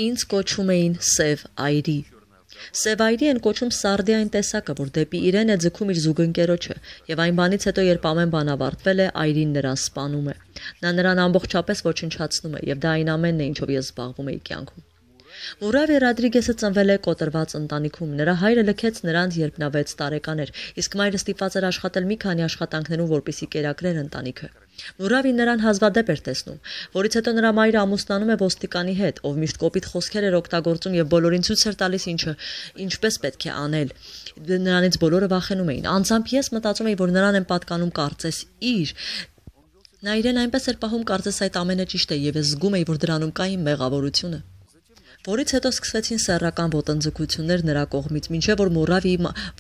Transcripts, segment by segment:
Ինձ կոչում էին Սև այրի։ Սև այրի են կոչում սարդի այն տեսակը, որ դեպի իրեն է ձգում իր զուգընկերոջը, եւ այն բանից հետո, երբ ամեն բան ավարտվել է, այրին նրան սպանում է։ Նա նրան ամբողջապես ոչնչացնում է, եւ դա այն ամենն է, ինչով ես զբաղվում էի կյանքում։ Մուրավի Ռոդրիգեսը ծնվել է կոտրված ընտանիքում։ Նրա հայրը լքեց նրան, երբ նա 6 տարեկան էր, իսկ մայրը ստիպված էր աշխատել մի քանի աշխատանքներում, որպեսզի կերակրեր ընտանիքը։ Մուրավին նրան հազվադեպ էր տեսնում, որից հետո նրա մայրը ամուսնանում է ոստիկանի հետ, ով միշտ կոպիտ խոսքեր էր օգտագործում եւ բոլորին ցույց էր տալիս ինչպես պետք է անել։ Նրանից բոլորը վախենում էին։ Անձամբ ես մտածում էի, որ նրան են պատկանում կարծես իր։ Նա իրեն այնպես էր պահում, կարծես այդ ամենը ճիշտ է, եւ ես զգում էի, որ դրանում կա իմ մեղավորությունը։ Որից հետո սկսվեցին սեռական ոտնձգություններ նրա կողմից, մինչև որ Մուրավի,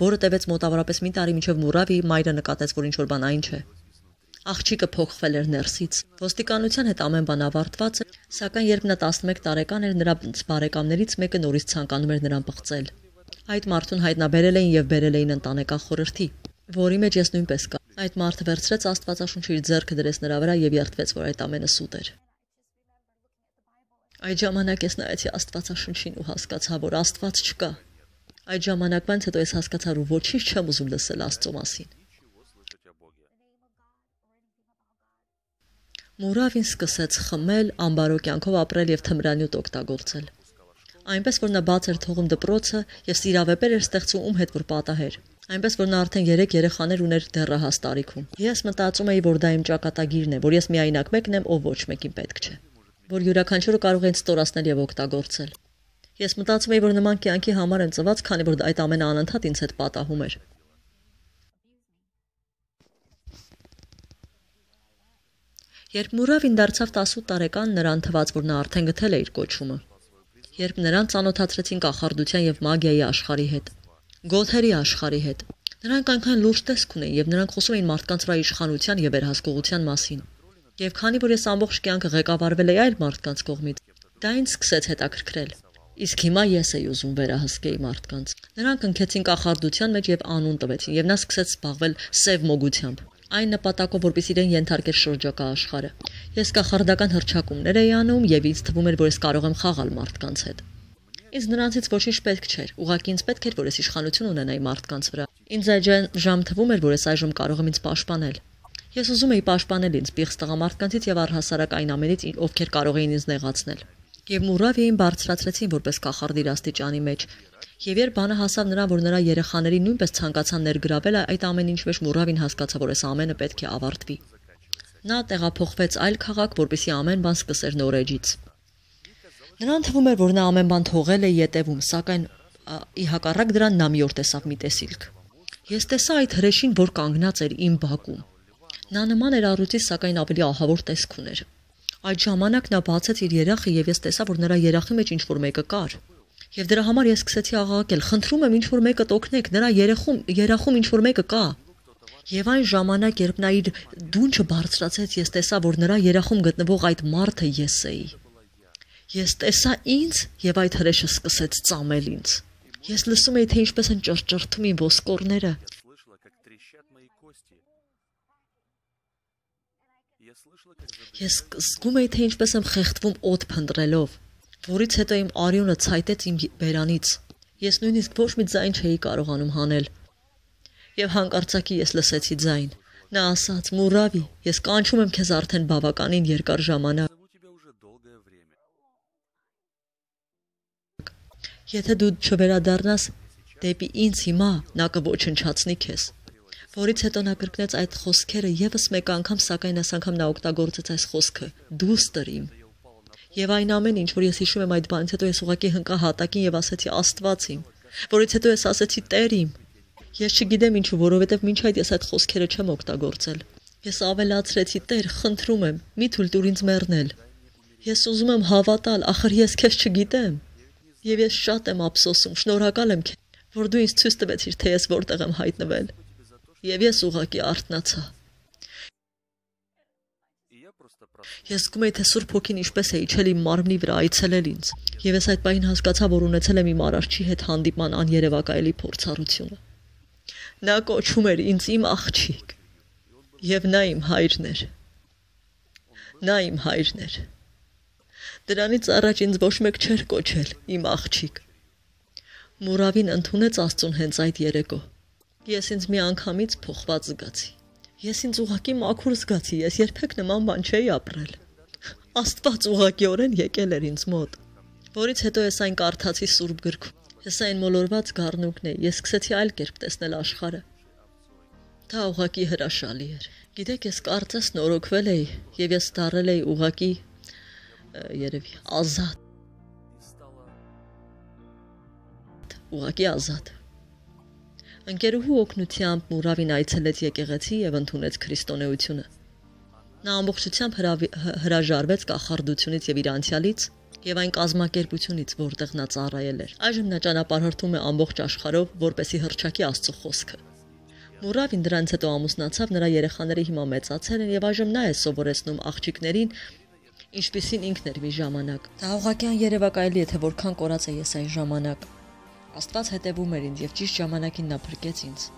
որը տևեց մոտավորապես մի տարի, մինչև Մուրավի մայրը նկատեց, որ ինչ-որ բան այն չէ։ Աղջիկը փոխվել էր ներսից։ Ոստիկանության հետ ամեն բան ավարտված էր, սակայն երբ նա 11 տարեկան էր, նրա բարեկամներից մեկը նորից ցանկանում էր նրան պղծել։ Այդ մարդուն հայտնաբերել էին եւ բերել էին ընտանեկան խորհրդի, որի մեջ ես նույնպես կա։ Այդ մարդը վերցրեց Աստվածաշունչը իր ձեռքը դրեց նրա վրա եւ երդվեց, որ այդ ամենը սուտ էր։ Այդ ժամանակ ես նայեցի Աստվածաշունչին ու հասկացա, որ Աստված չկա։ Այդ ժամանակվանից հետո ես հասկացա, որ ոչինչ չեմ ուզում լսել Աստծո մասին։ Մուրավին սկսեց խմել, ամբարո կյանքով ապրել եւ թմրանյութ օգտագործել։ Այնպես որ նա բաց էր թողում դպրոցը եւ սիրավեպեր էր ստեղծում ում հետ որ պատահեր։ Այնպես որ նա արդեն 3 երեխաներ ուներ դեռահաս տարիքում։ Ես մտածում էի, որ դա իմ ճակատագիրն է, որ ես միայնակ մեկն եմ, ով ոչ մեկին պետք չէ, որ յուրաքանչյուրը կարող է ինձ ստորացնել եւ օգտագործել։ Ես մտածում էի, որ նման կյանքի համար եմ ծնված, քանի որ այդ ամենը անընդհատ ինձ հետ պատահում էր։ Երբ Մուրավին դարձավ 18 տարեկան, նրան թվաց, որ նա արդեն գտել է իր կոչումը։ Երբ նրան ծանոթացրեցին կախարդության եւ մագիայի աշխարհի հետ, գոթերի աշխարհի հետ, նրանք այնքան լուրջ տեսք ունեին եւ նրանք խոսում էին մարդկանց վրա իշխանության եւ վերահսկողության մասին։ Եվ քանի որ ես ամբողջ կյանքը ղեկավարվել էի այլ մարդկանց կողմից, դա ինձ սկսեց հետաքրքրել։ Իսկ հիմա ես էի ուզում վերահսկեի մարդկանց։ Նրանք ընկեցին կախարդության մեջ եւ անուն տվեցին եւ նա սկսեց զբաղվել սև մոգությամբ։ Այն նպատակով, որպես իրեն ենթարկեր շրջակա աշխարհը։ Ես կախարդական հռչակումներ էի անում եւ ինձ թվում էր, որ ես կարող եմ խաղալ մարդկանց հետ։ Ինձ նրանցից ոչինչ պետք չէր, ուղղակի ինձ պետք էր, որ ես իշխանություն ունենայի մարդկանց վրա։ Ինձ այդ ժամ թվում էր, որ ես այժմ կարող եմ ինձ պաշտպանել։ Ես ուզում էի պաշտպանել ինձ պիղծ տղամարդկանցից եւ առհասարակ այն ամենից, ովքեր կարող էին ինձ նեղացնել։ Եվ Մուրավիին բարձրացրեցին որպես կախարդ իր աստիճանի մեջ։ Եվ երբ բանը հասավ նրան, որ նրա երեխաներին նույնպես ցանկացան ներգրավել, այդ ամեն ինչ մեջ Մուրավին հասկացավ, որ այս ամենը պետք է ավարտվի։ Նա տեղափոխվեց այլ քաղաք, որպեսզի ամեն բան սկսեր նոր էջից։ Նրան թվում էր, որ նա ամեն բան թողել է յետևում, սակայն ի հակառակ դրան նա մի օր տեսավ մի տեսիլք։ Ես տեսա այդ հրեշին, որ կանգնած էր իմ բակում։ Նա նման էր առյուծի, սակայն ավելի ահավոր տեսք ուներ։ Այդ ժամանակ նա բացեց իր երախը եւ ես տեսա, որ նրա երախի մեջ ինչ-որ մեկը կար։ Եվ դրա համար ես սկսեցի աղաղակել. «Խնդրում եմ, ինչ-որ մեկը օգնեք, նրա երախում ինչ-որ մեկը կա»։ Եվ այն ժամանակ, երբ նա իր դունչը բարձրացեց, ես տեսա, որ նրա երախում գտնվող այդ մարդը ես էի։ Ես տեսա ինձ եւ այդ հրեշը սկսեց ծամել ինձ։ Ես լսում էի, թե ինչպես են ճռճռթում իմ ոսկորները։ Ես զգում էի, թե ինչպես եմ խեղդվում օդ փնտրելով, որից հետո իմ արյունը ցայտեց իմ բերանից։ Ես նույնիսկ ոչ մի ձայն չէի կարողանում հանել։ Եվ հանկարծակի ես լսեցի ձայն։ Նա ասաց. «Մուրավի, ես կանչում եմ քեզ արդեն բավականին երկար ժամանակ։ Եթե դու չվերադառնաս դեպի ինձ հիմա, նա կոչնչացնի քեզ»։ Որից հետո նա կրկնեց այդ խոսքերը եւս մեկ անգամ, սակայն այս անգամ նա օգտագործեց այս խոսքը. «Դուստր իմ»։ Եվ այն ամեն ինչ, որ ես հիշում եմ այդ բանից հետո, ես ուղղակի հնկա հատակին եւ ասեցի Աստված իմ, որից հետո ես ասեցի Տեր իմ։ Ես չգիտեմ ինչու, որովհետեւ մինչ այդ ես այդ խոսքերը չեմ օգտագործել։ Ես ավելացրեցի Տեր, խնդրում եմ, մի թույլ տուր ինձ մեռնել։ Ես ուզում եմ հավատալ, ախր ես քեզ չգիտեմ։ Եվ ես շատ եմ ափսոսում, շնորհակալ եմ քեզ, որ դու ինձ ցույց տվեցիր, թե ես որտեղ եմ հայտնվել։ Եվ ես ուղղակի արթնացա։ Ես զգում էի, թե Սուրբ Հոգին ինչպես է իջել իմ մարմնի վրա, այցելել ինձ։ Եվ ես այդ պահին հասկացա, որ ունեցել եմ իմ Արարչի հետ հանդիպման աներևակայելի փորձառությունը։ Նա կոչում էր ինձ իմ աղջիկ։ Եվ նա իմ հայրն էր։ Նա իմ հայրն էր։ Դրանից առաջ ինձ ոչ մեկ չէր կոչել, իմ աղջիկ։ Մուրավին ընդունեց Աստծուն հենց այդ երեկո։ Ես ինձ մի անգամից փոխված զգացի։ Ես ինձ ուղղակի մաքուր զգացի, ես երբեք նման բան չէի ապրել։ Աստված ուղղակիորեն եկել էր ինձ մոտ, որից հետո ես այն կարդացի Սուրբ գրքում։ Ես այն մոլորված գառնուկն էի, ես սկսեցի այլ կերպ տեսնել աշխարհը։ Դա ուղղակի հրաշալի էր։ Գիտեք, ես կարծես նորոգվել էի, եւ ես դառել էի ուղղակի երևի ազատ։ Ուղղակի ազատ։ Ընկերուհու օգնությամբ Մուրավին այցելեց եկեղեցի եւ ընդունեց քրիստոնեությունը։ Նա ամբողջությամբ հրաժարվեց կախարդությունից եւ իր անցյալից եւ այն կազմակերպությունից, որտեղ նա ծառայել էր։ Այժմ նա ճանապարհորդում է ամբողջ աշխարհով, որպեսզի հռչակի Աստծո խոսքը։ Մուրավին դրանից հետո ամուսնացավ, նրա երեխաները հիմա մեծացել են եւ այժմ նա է սովորեցնում աղջիկներին, ինչպիսին ինքն էր մի ժամանակ։ Դա ուղղակյան երևակայելի է, թե որքան կորած է ես այն ժամանակ։ Աստված հետևում էր ինձ եւ ճիշտ ժամանակին նա փրկեց ինձ։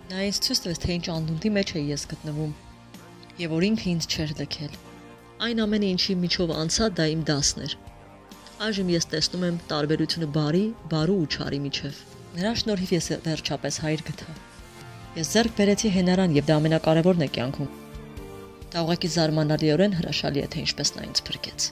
Նա ինձ ցույց տվեց, թե ինչ անդունդի մեջ էի ես գտնվում եւ որ ինքը ինձ չէր լքել։ Այն ամենը, ինչի միջով անցա, դա իմ դասն էր։ Այժմ ես տեսնում եմ տարբերությունը բարու ու չարի միջև։ Նրա շնորհիվ ես վերջապես հայր գտա։ Ես ձեռք բերեցի հենարան եւ դա ամենակարևորն է կյանքում։ Դա ուղղակի զարմանալիորեն հրաշալի է, թե ինչպես նա ինձ փրկեց։